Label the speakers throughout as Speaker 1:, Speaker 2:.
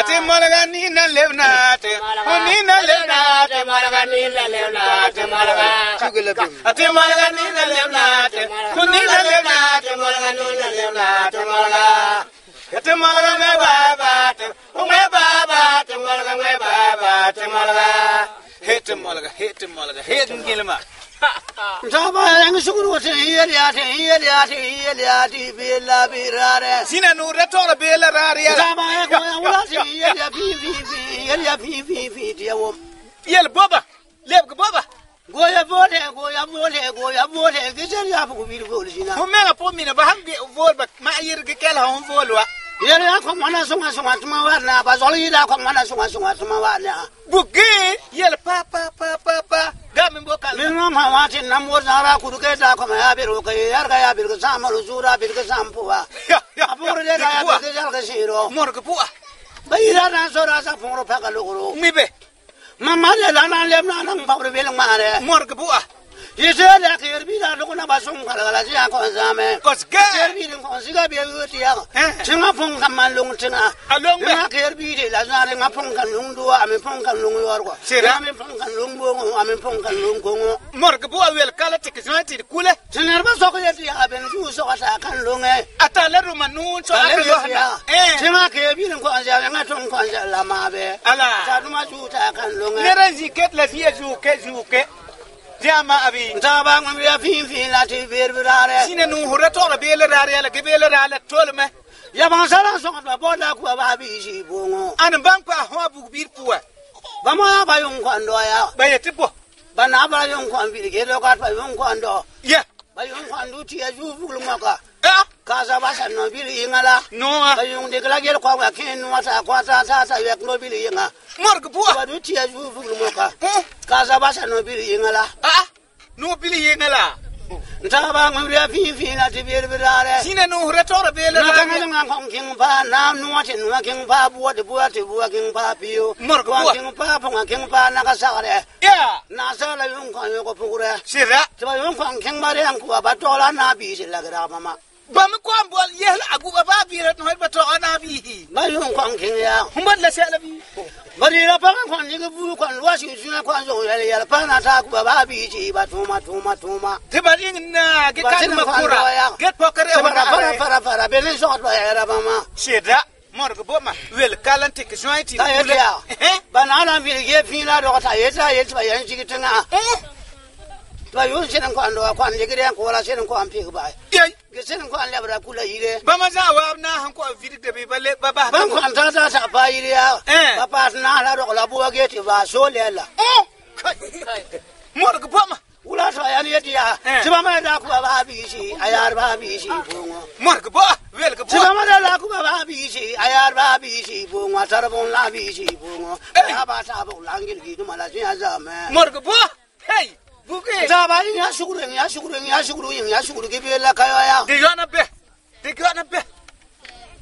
Speaker 1: Ate malaga ni na levna te. Ni na levna te malaga ni na levna te malaga. Ate malaga ni na levna te. Ni na levna te malaga ni na levna te malaga. Ate malaga me baba te. Me baba te malaga me baba te malaga. Hete malaga. Hete ngilma.
Speaker 2: Taba yang sukuru wate hiyaliati bela birare.
Speaker 1: Sina nura tora bela rare.
Speaker 2: Taba yang wulati hiyalia fi diawo.
Speaker 1: Yel boba. Lebga boba.
Speaker 2: Goya vole gizer ya bu bir vol sina.
Speaker 1: Ho mega po mina ba hamge vol ba ma yirge kela hon volwa.
Speaker 2: Yele ya ko mana sunga tuma warna ba zoli da ko mana sunga tuma warna.
Speaker 1: Bugi yel pa gamin bokal.
Speaker 2: Min ma wati namwo zara kuruke da ko ma biru ke yarga ya biru samaru zura biru sampuwa. Aburu de da ya biru jalga siro.
Speaker 1: Morga puwa.
Speaker 2: Bayira na sora sa foro pa kaluguru.
Speaker 1: Mibe.
Speaker 2: Mama le la na lemna nang pabru beleng mare.
Speaker 1: Morga puwa.
Speaker 2: Yisele kirbi da lukuna basum kala ya ko zame.
Speaker 1: Kosga.
Speaker 2: Kirbi ko siga be yuti ya. Tinga pon kaman lung tinga.
Speaker 1: Along be.
Speaker 2: Na kirbi de la zare nga pon kan lung do ame pon kan lung yor ko. Ame pon kan lung bo ame pon kan lung ko.
Speaker 1: Morga puwa wel kala tikisnati kule.
Speaker 2: Tinar ba soko yeti ya ben ju so ka kan lung e.
Speaker 1: Atala ruma nun so aka yohana.
Speaker 2: Tinga kirbi ko anja nga ton ko anja la mabe.
Speaker 1: Ala.
Speaker 2: Ta duma ju ta kan lung e.
Speaker 1: Nera ziket la fiye zuke. Jama abi.
Speaker 2: Taba ngam ya fin la ti birbirare.
Speaker 1: Sine nu hurato la bele rare la gebele rare tolme.
Speaker 2: Ya ban sala so ba boda ku ba bi ji bongo.
Speaker 1: An banko a ho bu bir puwa.
Speaker 2: Ba mo ya ba yung kwando ya.
Speaker 1: Ba yete po.
Speaker 2: Ba na ba yung kwan bi ke do ka ba yung kwando.
Speaker 1: Ya.
Speaker 2: Ba yung kwando ti ya ju buglu maka.
Speaker 1: Ah.
Speaker 2: Kaza ba sa no bi ingala.
Speaker 1: No.
Speaker 2: Ba yung de kala gel kwa ka ken no ta kwa ta yek no bi inga.
Speaker 1: Morga puwa.
Speaker 2: Ba du ti ya ju buglu maka. Kaza ba sa no bi ingala.
Speaker 1: Ah. No bili yengala.
Speaker 2: Taba ngam ya fin la ti birbirare.
Speaker 1: Sine nu hurato la bele
Speaker 2: Na
Speaker 1: rare.
Speaker 2: kanga nga kong king pa na nuwati nuwa king pa buwa king pa piyo.
Speaker 1: Morga puwa.
Speaker 2: King pa punga king pa nakasakare.
Speaker 1: Ya.
Speaker 2: Na sala yung kong yung kopukure.
Speaker 1: Sira.
Speaker 2: Tiba yung kong king mare ang kuwa batola na bisi lagra mama.
Speaker 1: Ba mi ko ambol yel agu ba biret no ba to ana bi.
Speaker 2: Ba yung kong king ya.
Speaker 1: Humbat la sala bi.
Speaker 2: Bari la pa kong ni bu kong wasi suna kong so yel pa na ta kuwa ba bisi ba tuma.
Speaker 1: Tiba na ge kan makura. Get pokare wa
Speaker 2: Para belen so ba era mama.
Speaker 1: Sira. Morga boma wel kalante ke jointi.
Speaker 2: Ta ya. Ba na na bi ge fin la do ta yeta ba yan jigitina. Ba yun sinan ko ando kwan ligire ko wala sinan ko ampi ba.
Speaker 1: Yey.
Speaker 2: Ge sinan ko an labra kula yire.
Speaker 1: Ba ma za wa na han ko vidik de be balle ba.
Speaker 2: Ban ko an ta ba yire ya. Ba pa na la do la bu ge ti ba so lela.
Speaker 1: Morga boma.
Speaker 2: Ula so yan yeti ya. Tiba ma da ku ba bi shi ayar ba bi shi bongo.
Speaker 1: Morga bo wel ga bo.
Speaker 2: Tiba ma da la ku ba bi shi ayar ba bi shi bongo tarbon la bi shi bongo. Ya ba ta bo langil gi du mala jin azame.
Speaker 1: Morga bo. Hey. Buke.
Speaker 2: Taba ya shukuru ke be la kayo ya.
Speaker 1: De yana be.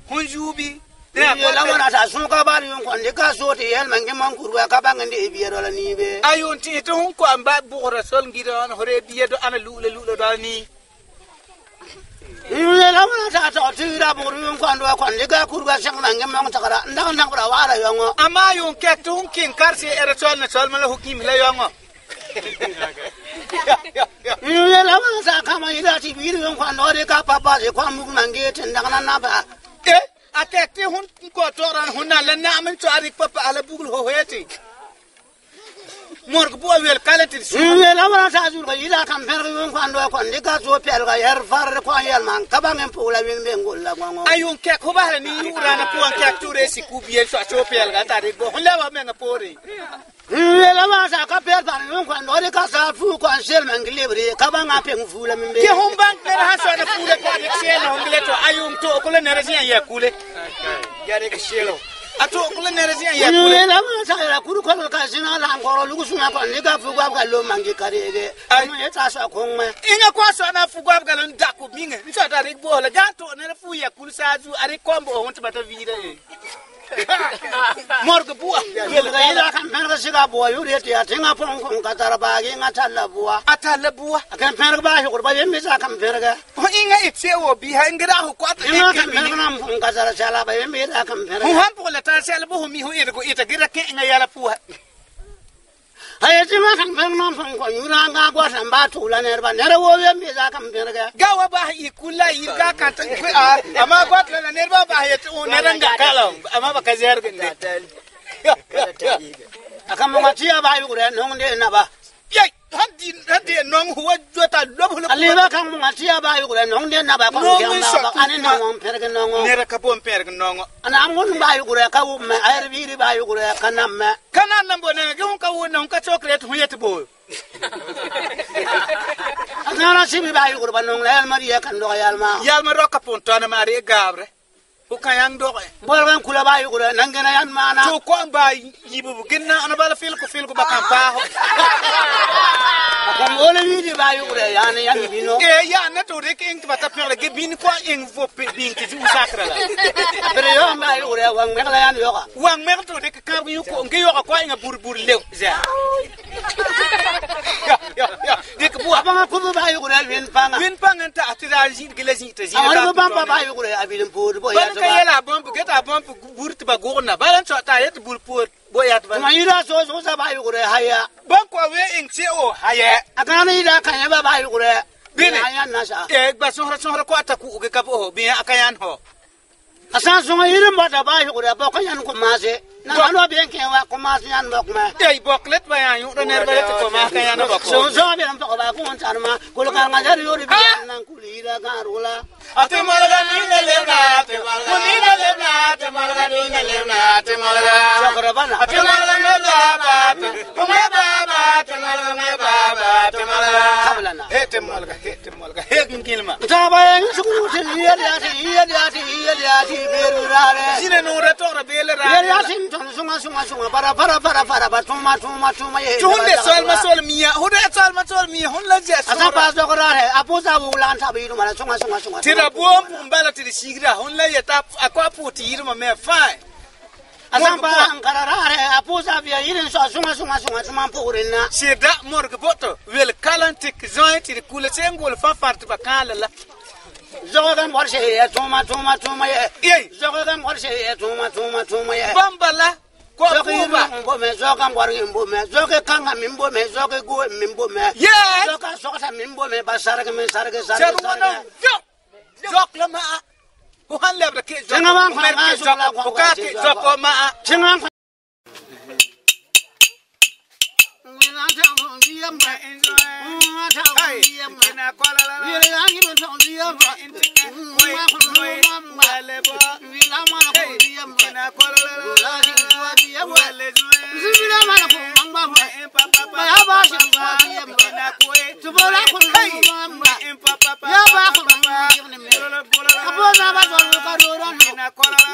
Speaker 1: Hunjubi.
Speaker 2: Ya la wana ta sun ka ba yon kon de ka so te yel man ke man kurwa ka ba ngende biye do la ni be.
Speaker 1: Ayon ti to hun ko amba bugora sol ngida on hore biye do ana lule do ni.
Speaker 2: Ya la wana ta to tira bugru yon kon do kon de ka kurwa sang man ke man ta kara ndak bra wara yongo.
Speaker 1: Ama yon ke to hun kin karse era sol na sol mala hukim la yongo.
Speaker 2: Ya la wana ta kama ida ti biye yon kon do de ka papa je kwa mu man ge ten ndak na ba.
Speaker 1: Atete hun ko toran hunna la naamin to arik papa ala bugul ho heti. Morg bo wel kalati su.
Speaker 2: La wana ta zu ga ida kam per yon kon do kon de ka so per ga yer far ko yel man ka ba ngem pula wen be ngol la gongo.
Speaker 1: Ayun ke ko ba ni yura na puan ke ture si ku biel so per ga ta de bo hun la ba men pore.
Speaker 2: La wana ta ka per par yon kon do de ka sa fu kon sel man glibre ka ba nga peng fu la min be.
Speaker 1: Ke hon bank ne ha so na fule ko de sel hon gleto ayun to ko le ne resian ya kule. Yare ke shelo. Ato ko le ne resian ya kule.
Speaker 2: La wana ta la kuru ko ka sina la ngoro lu su na ko ni ka fu gwa lo mangi karege. Ay ma eta so ko me.
Speaker 1: Inga kwa so na fu gwa ga lo ndako minge. Nso ta rik bo la ga to ne fu ya kul sa zu ari kombo hon ta bata vire. morga bua
Speaker 2: Yelga ila kan penga siga bua yuri ti atinga pon kon katara bagi ngatalla bua.
Speaker 1: atala bua
Speaker 2: Kan penga ba yukur ba yemmi sa kan penga.
Speaker 1: ho inga itse o bi ha ngira ho kwata
Speaker 2: Inga kan penga nam pon katara sala ba yemmi sa kan penga.
Speaker 1: ho han po la ta sel bo mi ho irgo ita gira ke nga yala pua
Speaker 2: Hay tinga kan penga nam pon kon yura nga gwa san ba tula nerba nere wo yemmi sa kan penga.
Speaker 1: gawa ba i kula i ga kan ta ama kwat la nerba ba ya tu neranga kala ama ba kazer ginde
Speaker 2: Akan mo ngatia ba yukur nong de na ba.
Speaker 1: yai hadi nong huwa jota lobu
Speaker 2: Aliba kan mo ngatia ba yukur nong de na ba kon kyamba ba ani nong penga nong.
Speaker 1: nera ka pon perg nongo
Speaker 2: Ana amun ba yukur ka wo me ayr biri ba yukur kanam me.
Speaker 1: kana nambo ne ge ka wona ka chocolate hu yet bo
Speaker 2: Ana sibi ba yukur ba nong la mariya kan do yalma.
Speaker 1: yal ma roka pon tona mari gabre o kan yang do
Speaker 2: Bolgan kula ba yukur nangena yan mana.
Speaker 1: to ko ba yibu ginna ana bala fil ko ba kan pa ho
Speaker 2: Akan wole widi ba yukur yani yan bino.
Speaker 1: e ya na to de king ba ta perle ge bin ko ing vo bin ki ju sakra la
Speaker 2: Pero yo ba yukur wang me kala yan yoka.
Speaker 1: wang mer to de ka yu ko ngi yo ko inga bur lew za ya de ko bu
Speaker 2: Apa ngaku ba yukur win panga.
Speaker 1: bin panganta atira jin gele jin ta jin
Speaker 2: Amar ba ba ba yukur abilin pur bo ya
Speaker 1: ban ka yela bom bu geta bom burti ba gorna balan so ta yet bul pur bo ya ta
Speaker 2: Ma ira so sa ba yukur haya.
Speaker 1: ban ko we ing che o haye
Speaker 2: Akan ira kan ya ba yukur.
Speaker 1: Bine.
Speaker 2: Ayan nasa.
Speaker 1: e ba so ko ta ku ge ka bo bi akayan ho
Speaker 2: Asan so irin ba da ba yukur ba kan yan ko mase. Na ano bien ke wa ko mase yan ba kuma.
Speaker 1: e boklet ba ya yu do ner ba ko ma akayan ba ko
Speaker 2: So be ram to ba ko on ma ko ka ngajar yori bi nan kulira kan rula.
Speaker 1: ate malaga ni le na te malaga ni le na te malaga ni le na te malaga
Speaker 2: Sakara bana.
Speaker 1: ate malaga me ba te me ba te malaga me ba te malaga
Speaker 2: Kablana.
Speaker 1: he te malaga he gilma
Speaker 2: Ta ba yan su ku te iya ti beru rare.
Speaker 1: sine no ra to ra bele ra
Speaker 2: Ya sin ton sunga para ba tuma ye.
Speaker 1: tunde sol miya hude sol miya hon la je
Speaker 2: Asa pas do rare aposa wulan ta bi mala sunga.
Speaker 1: tira bom mbala tiri sigira hon la yeta akwa puti yirma me fa
Speaker 2: Asa ba ankara rare aposa bi yirin so sunga purinna.
Speaker 1: sida morg boto wel kalantik zoin tiri kula sengol fa fart ba kala la
Speaker 2: Zogan war se ye tuma ye.
Speaker 1: Yey.
Speaker 2: Zogan war se ye tuma ye.
Speaker 1: bambala ko kuba
Speaker 2: Zogan war imbo me zoge kanga mimbo me zoge go mimbo me.
Speaker 1: yes
Speaker 2: Zoga sokata mimbo me basarga me sarga.
Speaker 1: serwana jok la ma ko han lebra ke jok
Speaker 2: Senga wan ko
Speaker 1: mer
Speaker 2: ma
Speaker 1: ke
Speaker 2: so la
Speaker 1: jok ko ka ke jok ko ma
Speaker 2: Chingan
Speaker 1: hey ina kola la ina kola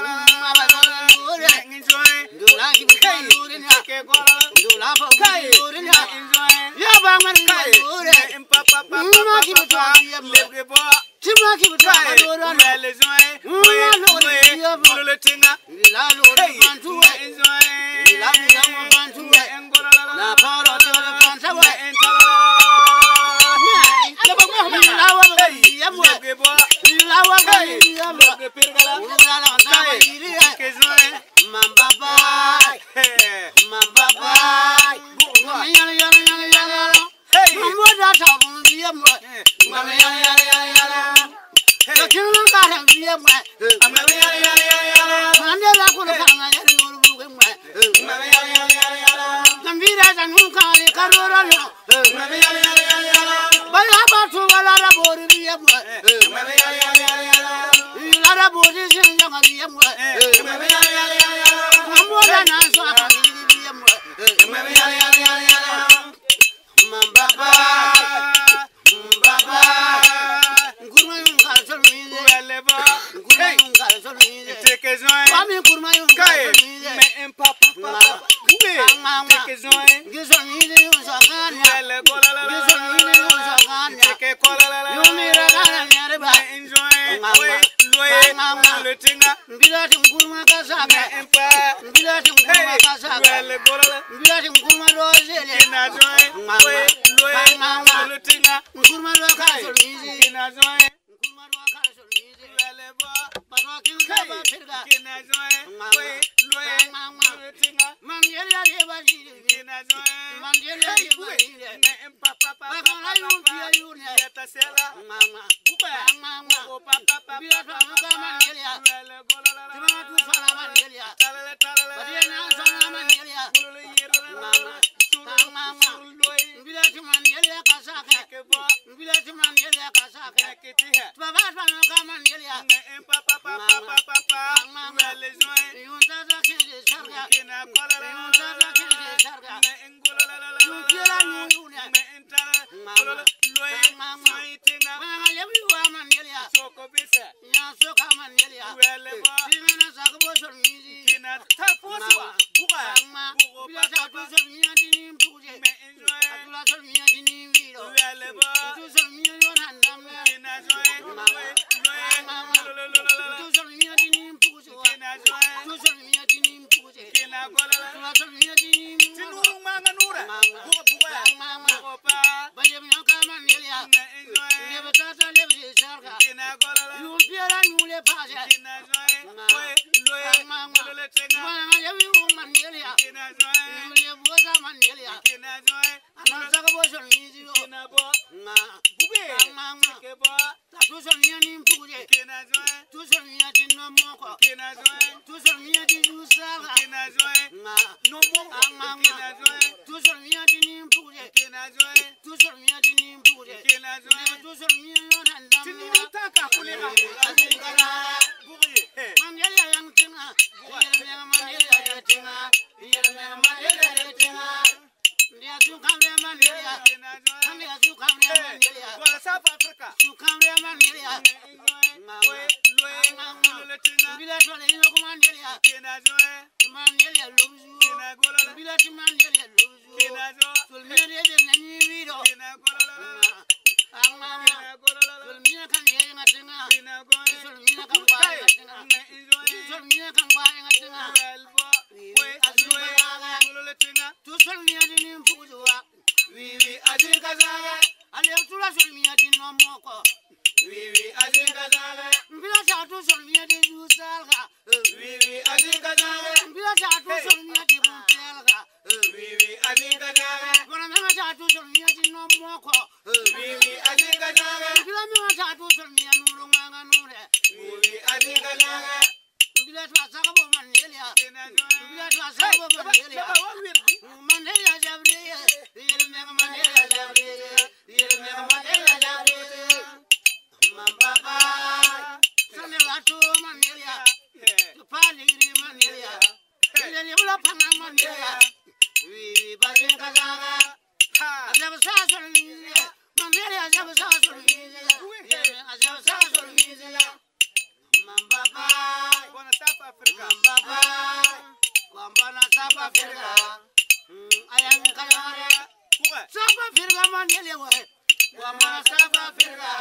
Speaker 2: Bila tum kuma kasa.
Speaker 1: Wele golala.
Speaker 2: Bila tum kuma rozele.
Speaker 1: Kina joy. We loe. Lutinga.
Speaker 2: Kuma ro kaso mizi.
Speaker 1: Kina joy.
Speaker 2: Kuma ro kaso mizi.
Speaker 1: Wele bo.
Speaker 2: Patwa kinga ba firga.
Speaker 1: Kina joy. We loe. Lutinga.
Speaker 2: Mandela reba jiri.
Speaker 1: Kina joy.
Speaker 2: Mandela reba jiri.
Speaker 1: Ne papa.
Speaker 2: Bakala yuntia yune.
Speaker 1: Yata sela.
Speaker 2: Mama. Mama.
Speaker 1: O papa.
Speaker 2: Bila tum kuma Mandela.
Speaker 1: Wele golala.
Speaker 2: Tima tu fala Mandela.
Speaker 1: Talale.
Speaker 2: Badena sana Mandela.
Speaker 1: Bulule yero.
Speaker 2: Mama. Mama. Bila tum Mandela kasaka.
Speaker 1: Kebo.
Speaker 2: Bila tum Mandela kasaka.
Speaker 1: Kitiha.
Speaker 2: Baba fana kama Mandela.
Speaker 1: Ne papa. Wele joy.
Speaker 2: Yunta kende sarga.
Speaker 1: Kina golala.
Speaker 2: Yunta kende sarga.
Speaker 1: Ne ngolala.
Speaker 2: Yukira nyune.
Speaker 1: Ne intala. Golala. Loe.
Speaker 2: Mama.
Speaker 1: Maitina.
Speaker 2: Mama lebi wa Mandela.
Speaker 1: Soko bisa.
Speaker 2: Ya soka Mandela.
Speaker 1: Wele bo.
Speaker 2: Timena sakabo sol mizi.
Speaker 1: Kina taposwa. Buka.
Speaker 2: Mama. Bila ta tu sol mizi ni mpuje.
Speaker 1: Me enjoy.
Speaker 2: Atula sol mizi ni viro.
Speaker 1: Wele bo.
Speaker 2: Tu sol mizi yon handam.
Speaker 1: Kina joy. Loe.
Speaker 2: Mama. Tu sol mizi ni mpuje.
Speaker 1: Kina joy.
Speaker 2: Tu sol mizi ni mpuje.
Speaker 1: Kina golala.
Speaker 2: Atula sol mizi ni mpuje.
Speaker 1: Tinuru manga nura.
Speaker 2: Mama.
Speaker 1: Buka.
Speaker 2: Mama.
Speaker 1: Buka.
Speaker 2: Bale mna kama Mandela.
Speaker 1: Me enjoy.
Speaker 2: Lebe tata lebe sarga.
Speaker 1: Kina golala.
Speaker 2: Yumpiera nyule pase.
Speaker 1: Kina joy. Loe.
Speaker 2: Mama.
Speaker 1: Golala tenga.
Speaker 2: Mama lebi wa Mandela.
Speaker 1: Kina joy.
Speaker 2: Yule boza Mandela.
Speaker 1: Kina joy.
Speaker 2: Ana sakabo sol mizi yo.
Speaker 1: Kina bo.
Speaker 2: Ma.
Speaker 1: Buke.
Speaker 2: Mama.
Speaker 1: Kebo.
Speaker 2: Tu sol mizi ni mpuje.
Speaker 1: Kina joy.
Speaker 2: Tu sol mizi no moko.
Speaker 1: Kina joy.
Speaker 2: Tu sol mizi du sarga.
Speaker 1: Kina joy.
Speaker 2: Ma.
Speaker 1: No more. Kina joy.
Speaker 2: Tu sol mizi ni mpuje.
Speaker 1: Kina joy.
Speaker 2: Tu sol mizi ni mpuje.
Speaker 1: Kina joy.
Speaker 2: Tu sol mizi yon handam.
Speaker 1: Tinuru taka kulema.
Speaker 2: Azingara.
Speaker 1: Buke.
Speaker 2: Mandela yang tinga. Yelme Mandela yang tinga. Yelme Mandela yang tinga. Dia sukamre Mandela.
Speaker 1: Kina joy.
Speaker 2: Dia sukamre Mandela.
Speaker 1: Wala South Africa.
Speaker 2: Sukamre Mandela.
Speaker 1: Loe. Golala tenga.
Speaker 2: Bila tole ino ko Mandela.
Speaker 1: Kina joy.
Speaker 2: Mandela lobuzu.
Speaker 1: Kina golala.
Speaker 2: Bila ti Mandela lobuzu.
Speaker 1: Kina joy.
Speaker 2: Tulmire de nani video.
Speaker 1: Kina golala.
Speaker 2: Mama.
Speaker 1: Kina golala.
Speaker 2: Tulmire kan ye ngatinga.
Speaker 1: Kina goy.
Speaker 2: Tulmire kan ba ngatinga.
Speaker 1: Me enjoy.
Speaker 2: Tulmire kan ba ngatinga.
Speaker 1: Welbo. We loe. Golala tenga.
Speaker 2: Tu tulmire ni mpujuwa.
Speaker 1: Wiwi azinka zaga.
Speaker 2: Ale tula tulmire di no moko.
Speaker 1: Wiwi azinka zaga.
Speaker 2: Bila ta tu tulmire di jusalga.
Speaker 1: Wiwi azinka zaga.
Speaker 2: Bila ta tu tulmire di buntelga.
Speaker 1: Wiwi azinka zaga.
Speaker 2: Bona mema ta tu tulmire di no moko.
Speaker 1: Wiwi azinka zaga.
Speaker 2: Bila mema ta tu tulmire nuru nganga nure.
Speaker 1: Wiwi azinka zaga.
Speaker 2: Bila ta sakabo Mandela.
Speaker 1: Kina joy.
Speaker 2: Bila ta sakabo Mandela. Mandela jabriye. Yelme Mandela jabriye. Yelme Mandela jabriye. Mambaba. Sane watu Mandela. Tupaliri Mandela. Yelme ula panga Mandela. Wiwi bazin kazaga. Azabu sasol miziya. Mandela azabu sasol miziya. Yelme azabu sasol miziya. Mambaba.
Speaker 1: Bona South Africa.
Speaker 2: Mambaba. Kwambana South Africa. Ayang kayare.
Speaker 1: Buka.
Speaker 2: South Africa Mandela wa. Kwambana South Africa.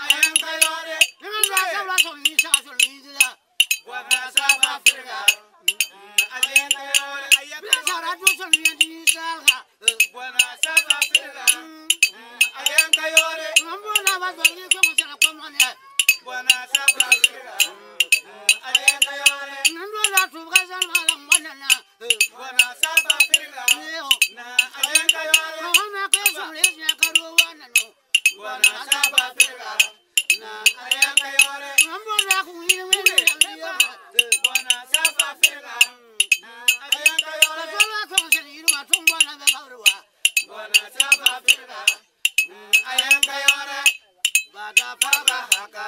Speaker 2: Ayang kayare. Nimanga sabla sol mi sasol miziya.
Speaker 1: Bona South Africa. Azinka yore.
Speaker 2: Bila sara tu sol mi di salga.
Speaker 1: Bona South Africa. Ayanka yore.
Speaker 2: Mambona wa zoli ko mo sala ko mo ne.
Speaker 1: Bona South Africa. Ayanka yore.
Speaker 2: Nando la tu ga san mala mwana.
Speaker 1: Bona South Africa. Na ayanka yore.
Speaker 2: Ko na ke sol le ya karu wana no.
Speaker 1: Bona South Africa. Na ayanka yore.
Speaker 2: Mambona ku ni we ya.
Speaker 1: Bona South Africa. Ayanka yore.
Speaker 2: Sala ko se ni ma tumba na ba barwa.
Speaker 1: Bona South Africa. Ayanka yore.
Speaker 2: Bada
Speaker 1: Papa haka.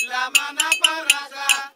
Speaker 1: Lama na paraka.